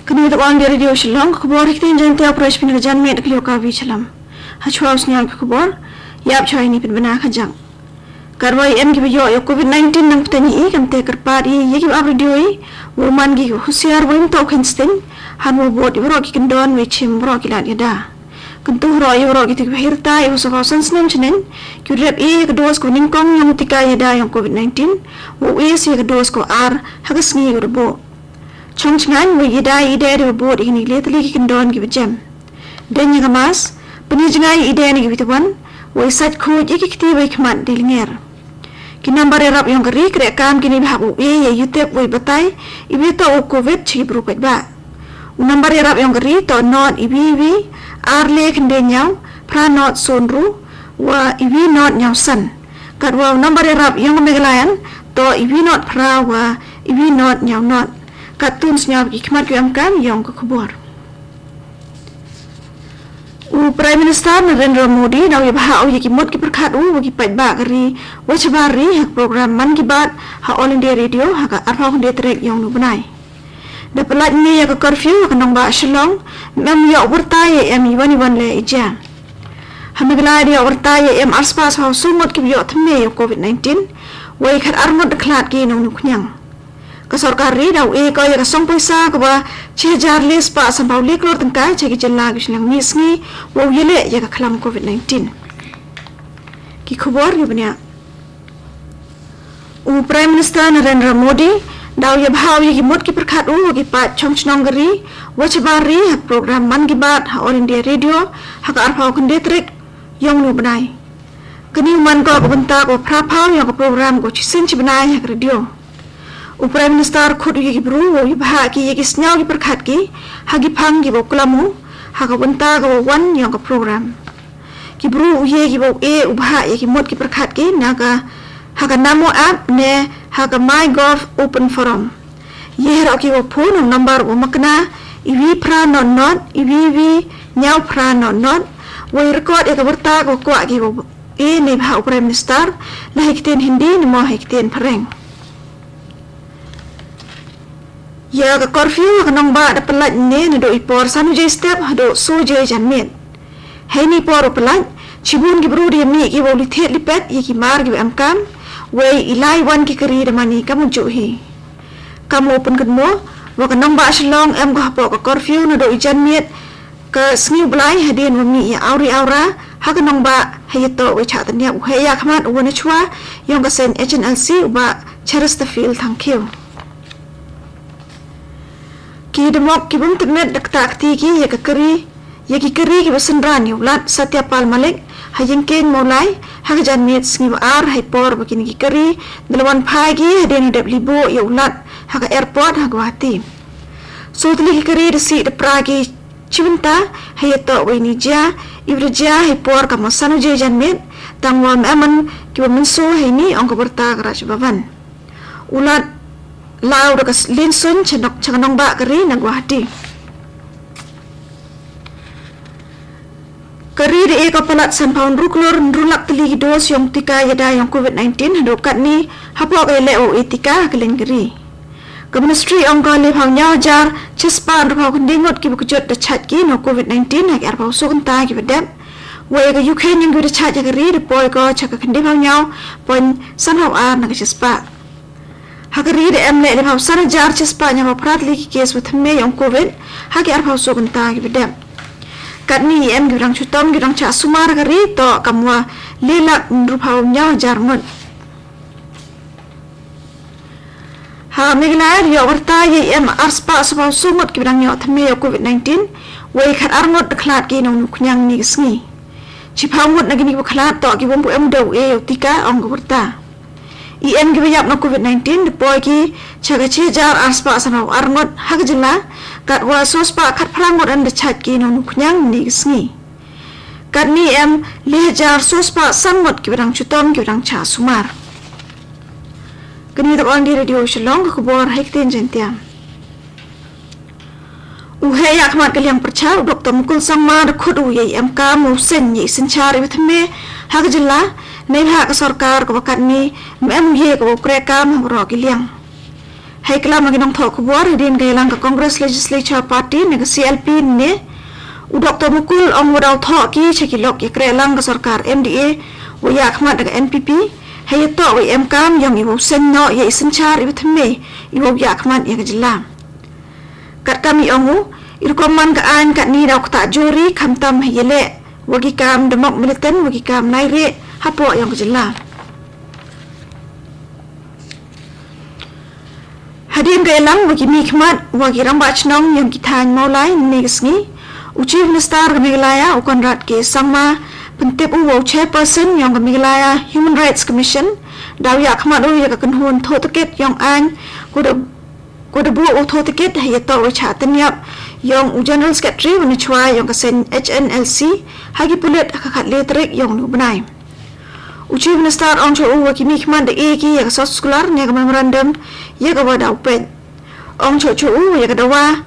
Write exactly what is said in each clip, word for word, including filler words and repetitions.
Kane ka dei ka Radio Shillong, ka khubor ha ktien Jaiñtia, u pyrshah pynjanmiet da ka Liokawi Shyllem. Hashwa u sniang ka khubor, ïa phi shuwa ïa kine kiba dang ïa ka jang. Katba ïa em kiba ïoh ïa u Covid nineteen nangta ngi i, kam te kyrpad i ïa kiba ap radio i, u man ki husiar, u ym to u kheiñ sting, hangne bud ïa baroh ki kyndon, u shim baroh ki lad ïada. Kyntu baroh ïa baroh kito kiba hir tai, ïa u saw phew san snem shaneng, ki rep ïa ka dos kaba nyngkong ïa u tika ïada ïa u Covid nineteen, u ïa sa ïa ka dos kaba ar ha ka sngi kaba bud. Shong shngaiñ, u ïada ïa i dei da ba bud ïa kine ki lai tylli ki kyndon kiba jem. Dei ïa ka mask, pynïajngai ïa i dei na ki bit wan, u ïa sait khuid ïa ki kti ba ïa khmat dei lyngngoh. Ki nambar ïarap ïong ka ri, kreh kam kine ba hap u ïa ïa ïa tip u ïa batai ïa ba ïa toh u Covid sha ki bru paidbah. U nambar ïarap ïong ka ri toh not ïa ïa ïa, ar le khyndai ñiaw, phra not soo ynru, wa ïa ïa not ñiaw san. Katwa u nambar ïarap ïong ka Meghalaya toh ïa ïa not phra wa ïa ïa not ñiaw not. Katto ngi sngap ki khmat ki em kam ïong ka khubor. U Prime Minister Narendra Modi, u da ïa bha ïa ki mut ki pyrkhat u, wa ki paidbah ka ri, wa shabar ri, ha ka program Mann Ki Baat, ha All India Radio, ha ka arphew khyndai tarik ïong u bnai. Da pyllait ne ïa ka curfew, ha ka nongbah Shillong, ym ïoh wyrta ïa em iwan iwan le i jia. Ha Meghalaya da ïoh wyrta ïa em arspah saw phew saw ngut kiba ïoh thymme ïa u Covid nineteen, wa i khat ar ngut da khlad ki nongñiewkñiang. Ka sorkar ri da u ïa ka ïa ka song poisa kaba shi hajar le spah saw phew le klur tyngka, sha ki jylla ki shnong mi sngi, wa u ïa leh ïa ka khlam Covid nineteen. Ki khubor ïa bniah. U Prime Minister Narendra Modi, u da ïa bha ïa ki mut ki pyrkhat u, wa ki paid shong shnong ka ri, wa shabar ri, ha program Mann Ki Baat, ha All India Radio, ha ka arphew khyndai tarik ïong u bnai. Kane u man ko ka bynta kaba phra phew ïong ka program kaba shisien shi bnai ha ka radio. U Prime Minister khot u ïa ki bru, u ïa bha ki ïa ki sniaw ki pyrkhat ki, ha ki phang kiba u klam u, ha ka bynta kaba wan ïong ka program. Ki bru u ïa kiba u ïa u bha ïa ki mut ki pyrkhat ki, na ka, ha ka Namo app ne, ha ka MyGov Open Forum. Ïa baroh kiba phone, u nambar u makna, ïa ïa phra not not, ïa ïa ïa ñiaw phra not not, wa ïa record ïa ka wyrta kaba kwah kiba u ïa ne bha u Prime Minister, la ha ki ktien Hindi, ne mo ha ki ktien Phareng. Ïa ka curfew ha ka nongbah da pyllait ne naduh i por san baje step haduh saw baje janmiet. Hei ne i por u pyllait, shibun ki bru da ïa mih kiba u leit thied leit peit ïa ki mar kiba em kam, wei i lai wan ki kari da mane kam u juh hi. Kam u pynkynmaw, wa ka nongbah Shillong em ka hapoh ka curfew naduh i janmiet, ka sngi u Blai hadien wa mih ïa awri awra, ha ka nongbah ha ïa toh wei chah tyndiap u heh ïa khmat u wan chwa, ïong ka seng H N L C u bah Cheristerfield Thangkhiew. Ki dmok ki bym tip met da kata kti ki ïa ka kari, ïa ki kari kiba synran ïa u Lat Satyapal Malik, ha Ïingkeiñ Mawlai, ha ka janmiet sngi ba ar, ha i por ba kine ki kari, da la wan phai ki, hadien u dep libuh ïa u Lat, ha ka airport, ha Guwahati. Saw tylli ki kari da sih da pra ki, Shi bynta, ha ïa toh wei ni jia, iba da jia ha i por ka mo san baje janmiet, tang wa ym em kiba mynsaw ha i ni ong ka wyrta ka Raj Bhavan. U Lat la u da ka s-, lynsuiñ sha nok, sha ka nongbah ka ri na Guwahati. Ka ri da ïa ka palat san phew ynru klur ynru lak tylli ki dos ïong tika ïada ïong Covid nineteen, haduh katne, hapoh ka ïaleh u ïa tika ha ka liang ka ri. Ka Ministry ong ka le phew hynñiew hajar, shispah hynriew phew khyndai ngut kiba kjut da shait ki na Covid nineteen, ha ki arphew saw kynta kiba dep. Wei ka Ukraine ïong kiba da shait ha ka ri da poi ko sha ka khyndai phew hynñiew point san phew ar na ka shispah. Ha ka ri da em le le phew san hajar shispah hynñiew phew phra tylli ki case ba thymme ïong Covid, ha ki arphew saw kynta kiba dep. Katne em kiba dang shu tom kiba dang shah sumar ha ka ri toh kam wa le lak hynriew phew hynñiew hajar ngut. Ha Meghalaya da ïoh wyrta ïa em arspah saw phew saw ngut kiba dang ïoh thymme ïa Covid nineteen, wei khat ar ngut da khlad ki nongñiewkñiang ne ka sngi. Shiphew ngut na kine kiba khlad toh ki bym pu em da u ïa u tika ong ka wyrta. I em kiba ïap na Covid nineteen da poi ki sha ka shi hajar arspah san phew ar ngut ha ka jylla, katwa saw spah khat phra ngut da shait ki nongñiewkñiang ne ka sngi. Katne em le hajar saw spah san ngut kiba dang shu tom kiba dang shah sumar. Kane ka dei ka Radio Shillong, ka khubor ha i ktien Jaiñtia. U heh ïa khmat ka liang pyrshah, u Doktor Mukul Sangma da khot u ïa i em kam u seng ïa i synshar iba thymme ha ka jylla, neibhah ka sorkar kaba katne ym em u ïa kaba u kreh kam ha baroh ki liang. Hei klam ha ki nongthoh khubor hadien ka ïalang ka Congress Legislature Party ne ka C L P ne, u Doctor Mukul ong wa daw thoh ki sha ki lok ïakrehlang ka sorkar M D A wa ïakhmat da ka N P P, hei ïatoh wa i emkam yong i wow seng noh ïa i synshar i wa thymme i wow ïakhmat ïa ka jylla. Katkam i ong u, i rukom man ka aiñ katni daw ktah jur i khamtam hei ïaleh wa ki kam da mok militant wa ki kam naireh hapoh yong ka jylla. Hadien ka ïalang wa ki mihkhmat wa ki rangbah chnong yong ki thaiñ Mawlai ne ka sngi, u Chief Minister ka Meghalaya u Conrad K Sangma pyntip u wa u Chairperson yong ka Meghalaya Human Rights Commission daw ïakhmat u ïa ka kynhun thoh takit yong aiñ, ko da ko da buh u thoh takit hei ïatoh wa i chah tyniap yong u General Secretary wa na chwa yong ka seng H N L C ha ki pulit ha ka khatle tarik yong u bnai. U Chief Minister ong chwa u wa ki mihkhmat da e ki ïa ka soskular ne ka memorandum ïa ka wa daw peit. Ong chwa chwa u wa ïa ka dawa,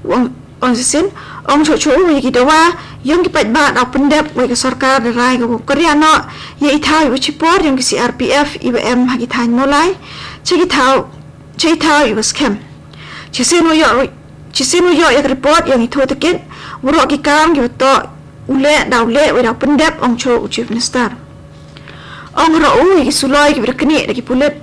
ong ong sisin, ong chwa chwa u wa ïa ki dawa yong ki paidbah daw pyndep wa ïa ka sorkar da rai ka wa kyrïa noh ïa i thaw i wa chipor yong ki C R P F i wa em ha ki thaiñ Mawlai cha ki thaw cha i thaw i wa skhem. Chisien wa ïoh chisien wa ïoh ïa ka report yong i thoh takit, waroh ki kam ki wa toh u leh daw leh wa daw pyndep, ong chwa u Chief Minister. Ong roh u ïa ki suloi ki wa da knieh da ki pulit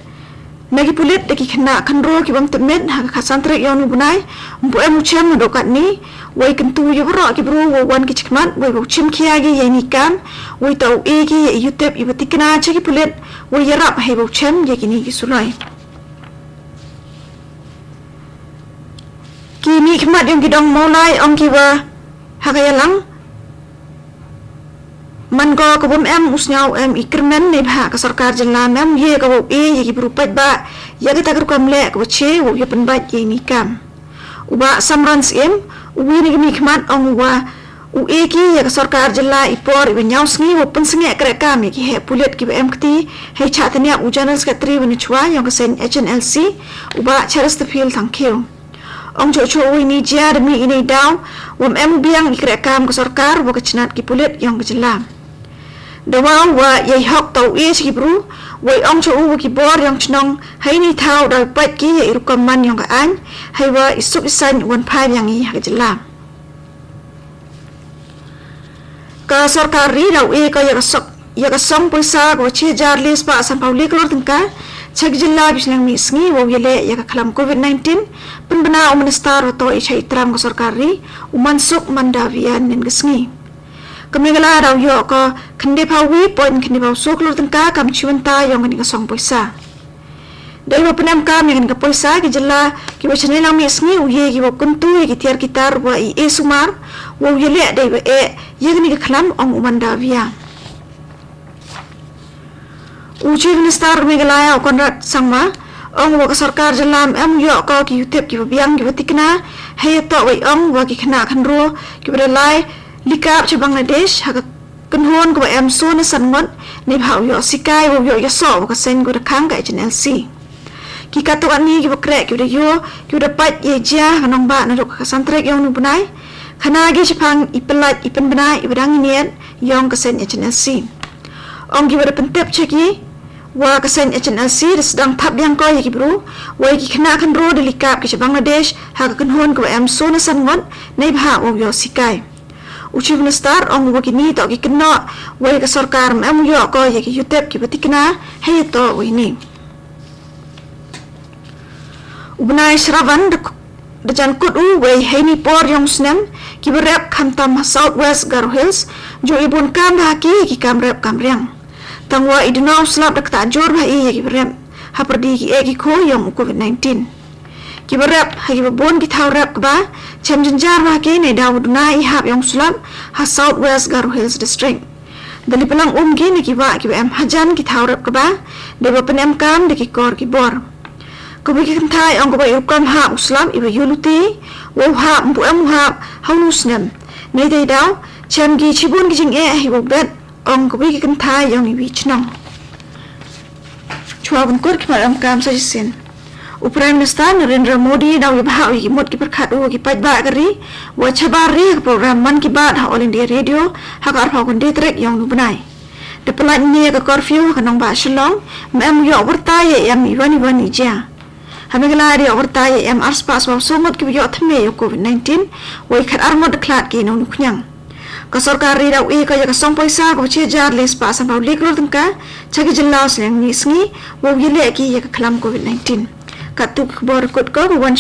na ki pulit da ki khynnah khynraw ki wa ym tip met ha ka khatsan tarik yong u bnai, ym pu em u chem na doh katni, wa i kyntu ïa waroh ki bru wa wan ki chikmat wa i wa u chim khia ki ïa i ni kam, wa i toh u e ki ïa i yutip i wa tikna cha ki pulit wa i ïarap hei wa u chem ïa ki ni ki suloi. Ki mihkhmat yong ki dong Mawlai ong ki wa ha ka ïalang man ko ka bym em u sngew em i kyrmen ne bha ka sorkar jylla mem ye ka wa u e ïa ki bru paidbah ïa kata ka rukom leh ka wa che wa u ïa pynbait ïa i ni kam. U Bah Samran Syiem, u wi na ki mihkhmat ong u wa u e ki ïa ka sorkar jylla i por i wa ñiaw sngi wa pynsngeh kreh kam ïa ki heh pulit ki wa em kti hei chah tyniap u General Secretary wa na chwa yong ka seng H N L C, u Bah Chesterfield Thangkhiew. Ong chwa chwa u i ni jia da mih i ni daw wa ym em u biang i kreh kam ka sorkar wa ka chnat ki pulit yong ka jylla. Da wa wa ïa i hok toh u e cha ki bru wa i ong chwa u wa ki bor yong chnong hei ni thaw daw i pait ki ïa i rukom man yong ka aiñ hei wa i suk i saiñ wan phai biang i ha ka jylla. Ka sorkar ri daw e ka ïa ka sok ïa ka song poisa ka wa chi hajar le spah sanphaw le klur tyngka cha ki jylla ki shnong mih sngi wa u ïa leh ïa ka khlam covid nineteen, pynbna u minister wa toh i cha i tram ka sorkar ri, u Mansukh Mandaviya nen ka sngi. Ka Meghalaya daw ïoh ka khyndai phaw wi point khyndai phaw so klur tyngka kam chi wynta yong ka ni ka song poisa. Dei wa pynem kam ïa ka ni ka poisa ki jylla ki wa chane lang mih sngi u ye ki wa kyntu ïa ki tiar ki tar wa i e sumar wa u ïa leh dei wa e ïa ka ni ka khlam, ong u Mandaviya. U Chief Minister Meghalaya u Conrad Sangma ong wa ka sorkar jylla em u ïoh ka ki yutip ki wa biang ki wa tikna hei ïa toh wa i ong wa ki khynnah khynraw ki wa da lai likap cha Bangladesh ha ka kynhun ka wa em so na san ngut, ne bha u ïoh sikai wa u ïoh ïa soh wa ka seng ka wa da khang ka H N L C. Ki katu ani ki wa kreh ki wa da ïoh ki wa da pait ïa jia ha ka nongbah na dok ka santrik yong nu bnai. Khana ki chipang i pelait i pynbna i wa dang i niet yong ka seng H N L C. Ong ki wa da pyntip cha ki wa ka seng H N L C da sdang thap biang ko ïa ki bru wa ïa ki khynnah khynraw da likap ki cha Bangladesh ha ka kynhun ka wa em so na san ngut, ne bha wa u ïoh sikai. U Chief Minister ong wa ki ni toh ki kynnoh wa ïa ka sorkar em u ïoh ko ïa ki yutip ki wa tikna hei ïa toh wa i ni. U bnai Shravan da jan kut u wei hei ni por yong snem ki wa rep khamtam ha South West Garo Hills, ju i bun kam bha ki ki kam rep kam riang. Tang wa i duna u slap da kata jur bha i ïa ki wa rep ha pyrdi ki e ki kho yong u covid nineteen. Ki wa rep ha ki wa bun ki thaw rep kaba chem jynjar bha ki ne daw duna i hap yong u slap ha South West Garo Hills District. Da li pynlang um ki ne ki wa ki wa em hajan ki thaw rep kaba dei wa pynem kam da ki kor ki bor. Ka wi ki kynthai ong ka wa i rukom hap u slap i wa yu luti wa u hap mpu em u hap ha u nu snem. Nei dei daw chem ki chibun ki jingeh hi wa bet, ong ka wi ki kynthai yong i wi chnong. Chwa bun kur ki mar em kam sa jisin. U Prime Minister Narendra Modi daw i bha u i ki mut ki pyrkhat u ki paidbah ka ri wa chabar ri ka program Man Ki Baat ha All India Radio ha ka arphaw khyndai tarik yong nu bnai. Da pynlait ne ka curfew ha ka nongbah Shillong, mem ïoh wyrta ïa em i wan i wan i jia. Ha Meghalaya da ïoh batai ïa em ar spah saw saw ngut kiba ïoh thymme ïa u COVID nineteen, wei khat ar ngut da khlad ki na u ñiuhkñiang. Ka sorkar ri da u e ka ïa ka song poisa kaba shi hajar lai spah sanphew lai klur tyngka cha ki jylla u sliang mih sngi, wow ïaleh ki ïa ka khlam COVID nineteen. Katto ki khubor kut ko ba wan